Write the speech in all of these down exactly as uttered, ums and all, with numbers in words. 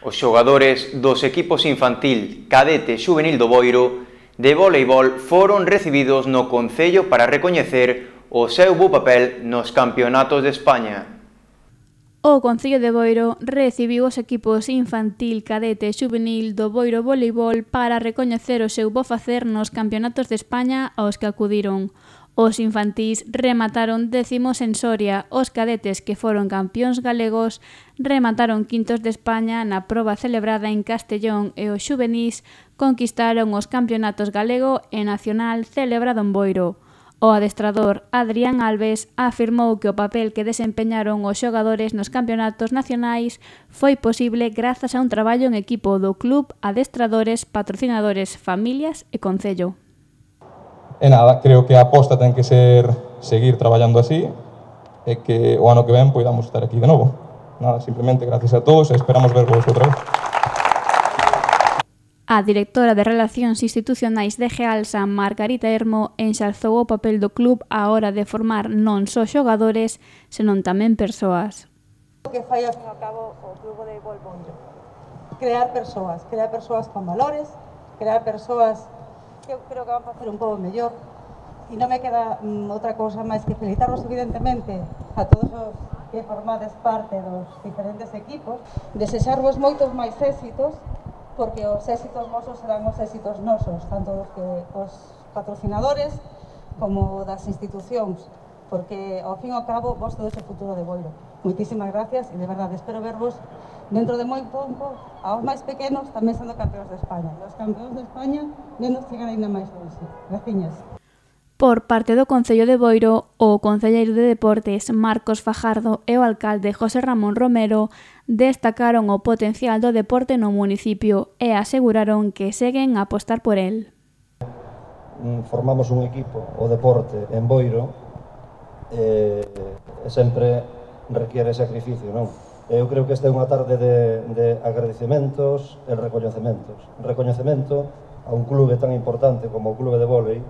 Os xogadores dos equipos infantil, cadete e xuvenil do Boiro de voleibol foron recibidos no Concello para recoñecer o seu bo papel nos campeonatos de España. O Concello de Boiro recibiu os equipos infantil, cadete e xuvenil do Boiro Voleibol para recoñecer o seu bo facer nos campeonatos de España aos que acudiron. Os infantís remataron décimos en Soria, os cadetes que foron campións galegos remataron quintos de España na proba celebrada en Castellón e os xuvenís conquistaron os campeonatos galego e nacional celebrado en Boiro. O adestrador Adrián Alves afirmou que o papel que desempeñaron os xogadores nos campeonatos nacionais foi posible grazas a un traballo en equipo do club, adestradores, patrocinadores, familias e concello. E nada, creo que a aposta ten que ser seguir traballando así e que o ano que ven poidamos estar aquí de novo. Nada, simplemente gracias a todos e esperamos vervos outra vez. A directora de Relacións Institucionais de Gealsa, Margarita Hermo, enxalzou o papel do club á hora de formar non só xogadores, senón tamén persoas. O que fai ao fin e ao cabo o Club de Boiro, crear persoas, crear persoas con valores, crear persoas que eu creo que van a facer un pouco mellor, e non me queda mm, outra cousa máis que felicitarvos evidentemente a todos os que formades parte dos diferentes equipos, desexarvos moitos máis éxitos, porque os éxitos vosos serán os éxitos nosos, tanto dos que os patrocinadores como das institucións, porque ao fin e ao cabo vos todo ese futuro de Boiro. Moitísimas gracias e de verdade espero vervos dentro de moi pouco aos máis pequenos tamén sendo campeóns de España. Os campeóns de España vendo chegar ainda máis longe. Graciñas. Por parte do Concello de Boiro, o concelleiro de Deportes Marcos Fajardo e o alcalde José Ramón Romero destacaron o potencial do deporte no municipio e aseguraron que seguen a apostar por el. Formamos un equipo, o deporte, en Boiro, e sempre requiere sacrificio, non? Eu creo que esta é unha tarde de, de agradecementos e recoñecementos. Recoñecemento a un clube tan importante como o Clube de Volei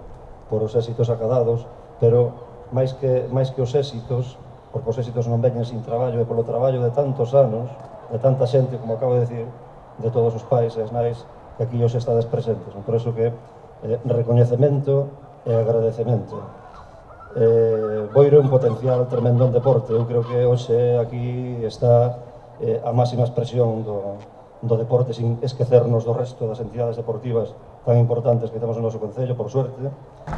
por os éxitos acadados, pero máis que, máis que os éxitos, porque os éxitos non veñen sin traballo, e polo traballo de tantos anos, de tanta xente, como acabo de decir, de todos os pais e as nais que aquí os estades presentes. Por iso que eh, recoñecemento e agradecemento. Eh, Boiro é un potencial tremendo en deporte. Eu creo que hoxe aquí está eh, a máxima expresión do, do deporte, sin esquecernos do resto das entidades deportivas tan importantes que temos no noso concello, por suerte.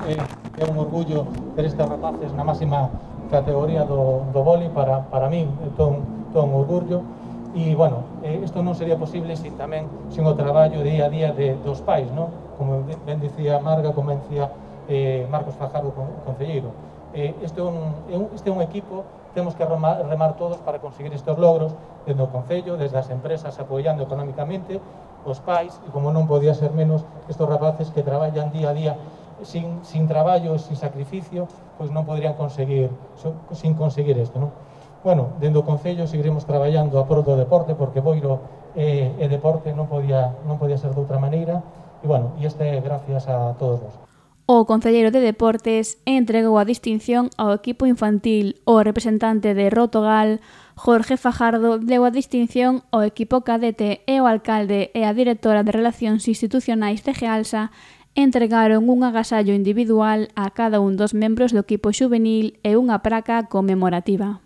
É, é un orgullo ter estes rapaces na máxima categoría do, do vóley para, para min, é todo un, todo un orgullo. E, bueno, eh, isto non sería posible sin tamén, sin o traballo día a día de, dos pais, non? Como ben dicía Marga, como dicía eh, Marcos Fajardo, concelleiro. Eh, este, é un, este é un equipo, temos que remar, remar todos para conseguir estes logros, desde o Concello, desde as empresas apoiando económicamente, os pais, e como non podía ser menos, estes rapaces que traballan día a día sin, sin traballo, sin sacrificio, pois non poderían conseguir, sin conseguir isto, non? Bueno, dentro do Concello seguiremos traballando a prol do deporte, porque Boiro é, é deporte, non podía, non podía ser de outra maneira, e bueno, e este é gracias a todos vos. O concelleiro de Deportes entregou a distinción ao equipo infantil. O representante de Rotogal, Jorge Fajardo, deu a distinción ao equipo cadete e o alcalde e a directora de Relacións Institucionais de Gealsa entregaron un agasallo individual a cada un dos membros do equipo xuvenil e unha praca conmemorativa.